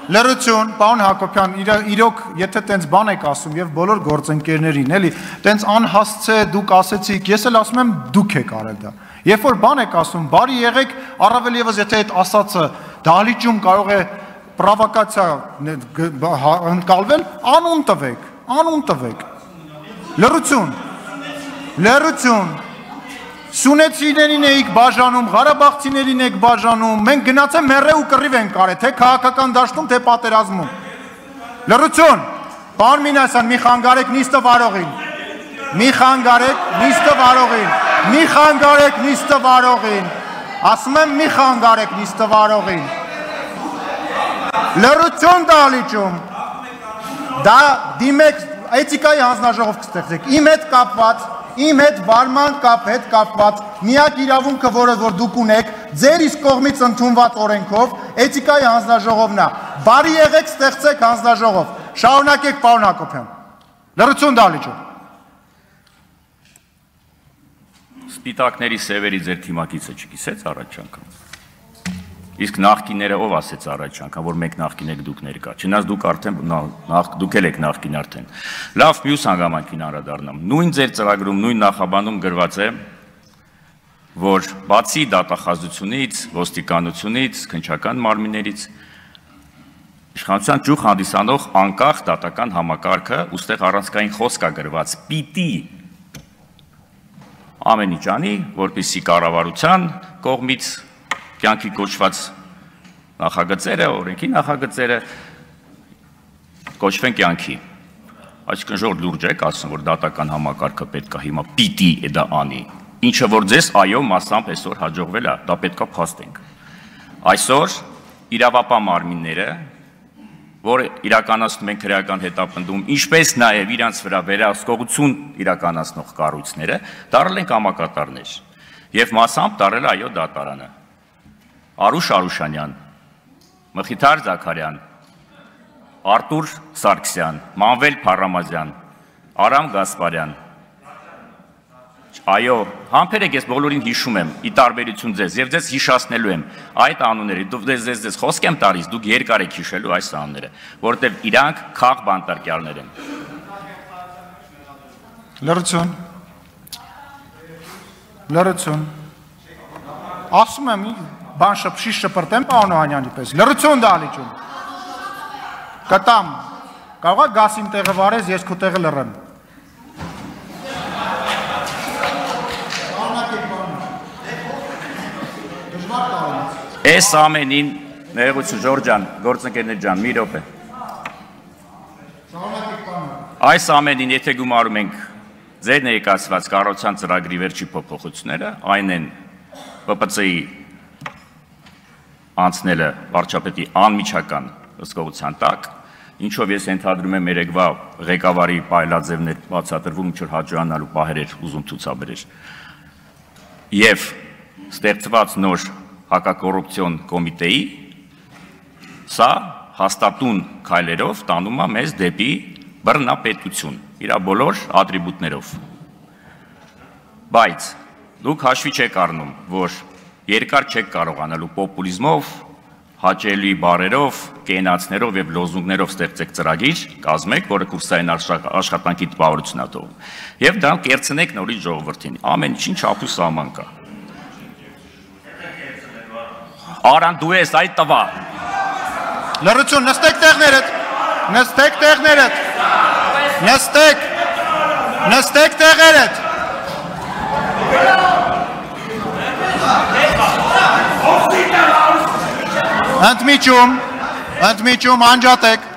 Լրություն, պարոն Հակոբյան, իրոք, եթե տենց բան եք ասում եւ բոլոր գործընկերներին, էլի, տենց անհասցե դուք ասեցիք, ես էլ ասում եմ դուք եք արել դա։ Երբ որ բան եք ասում, բարի եղեք, առավել եւս եթե այդ ասածը դահլիճում կարող է պրովոկացիա ընկալվել, անուն տվեք։ Լրություն։ Սունեցիներին էիք բաժանում, Ղարաբաղցիներին եք բաժանում, մենք գնացել մեռե ու կռիվ ենք արել, թե քաղաքական դաշտում, թե պատերազմում։ Լրություն, պարոն Մինասյան, մի խանգարեք նիստը վարողին, ասում եմ մի խանգարեք նիստը վարողին։ Լրություն դահլիճում, դա դիմեք, էթիկայի հանձնաժողով կստեղծեք, իմ հետ վարման հետ կապված միակ իրավունքը, որը որ դուք ունեք, ձեր իսկ կողմից ընդունված օրենքով, էթիկայի հանձնաժողովն է։ Բարի եղեք, ստեղծեք հանձնաժողով։ Շարունակեք, պարոն Հակոբյան։ Լրություն դահլիճում։ Սպիտակների սևերի ձեր թիմակիցը չգիսեց առաջ անգամ։ Իսկ նախկինները ով ասեց առաջ անգամ, որ մենք նախկին եք դուք ներկա։ Չնայած դուք արդեն դուք եք նախկին արդեն։ Լավ, մյուս հանգամանքին անդրադառնամ։ Նույն ձեր ծրագրում, նույն նախաբանում գրված է, որ բացի դատախազությունից, ոստիկանությունից, քննչական մարմիններից իշխանության ճյուղ հանդիսանող անկախ դատական համակարգը, ուստեղ առանցքային խոսք է գրված, պիտի ամեն ինչ անի, որպեսզի կառավարության կողմից կյանքի կոչված նախագծերը, օրենքի նախագծերը կոչվեն կյանքի։ Այսինքն ժոր լուրջ եք ասում, որ դատական համակարգը պետք է հիմա պիտի դա անի, ինչը որ ձեզ այո մասամբ այսօր հաջողվել է, դա պետք է փաստենք։ Այսօր իրավապահ մարմինները, որ իրականացնում են քրեական հետապնդում, ինչպես նաև իրանց վրա վերահսկողություն իրականացնող կառույցները, դառել են կամակատարներ եւ մասամբ դառել է այո դատարանը։ Արուշ Արուշանյան, Մխիթար Զաքարյան, Արտուր Սարգսյան, Մանվել Փարամազյան, Արամ Գասպարյան։ Այո, համբերեք ես բոլորին հիշում եմ, ի տարբերություն ձեզ, եւ ձեզ հիշացնելու եմ այդ անունները, ձեզ խոսք եմ տալիս, դուք երկար եք հիշելու այս անունները, որովհետեւ իրանք խաղ բանտարկյալներ են։ Լրություն։ Ասում եմ բան շիշ շպրտեմ պարոն Օհանյանի պես, լրություն դահլիճում, կտամ, կարող է գաս իմ տեղը վարես, ես քո տեղը լռեմ։ Այս ամենին, ներողություն Ժորժ ջան, գործընկերներ ջան, մի րոպե։ Այս ամենին, եթե գումարում ենք ձեր ներկայացված կառավարության ծրագրի վերջի փոփոխությունները, այն են ՊՊՑ-ի անցնելը վարչապետի անմիջական հսկողության տակ, ինչով ես ենթադրում եմ երեկվա ղեկավարի պայլաձևներ բացատրվում, ինչ որ հաջողանալու պահեր էր ուզում ցուցաբերել։ Եվ ստեղծված նոր հակակոռուպցիոն կոմիտեի սա հաստատուն քայլերով տանում է մեզ դեպի բռնապետություն, իր բոլոր ատրիբուտներով։ Բայց դուք հաշվի չեք առնում, որ երկար չեք կարողանալու պոպուլիզմով, հաճելի բառերով, կենացներով եւ լոզունգներով ստեղծեք ծրագիր, կազմեք, որը կուրսային աշխատանքի տպավորություն է տողում։ Եվ դրանք կերցնեք նորից ժողովրդին։ Ամեն ինչին չափ ու սահման կա։ Արան դու ես այդ տվա։ Լրություն, նստեք տեղերդ։ Ընդմիջում, անջատեք։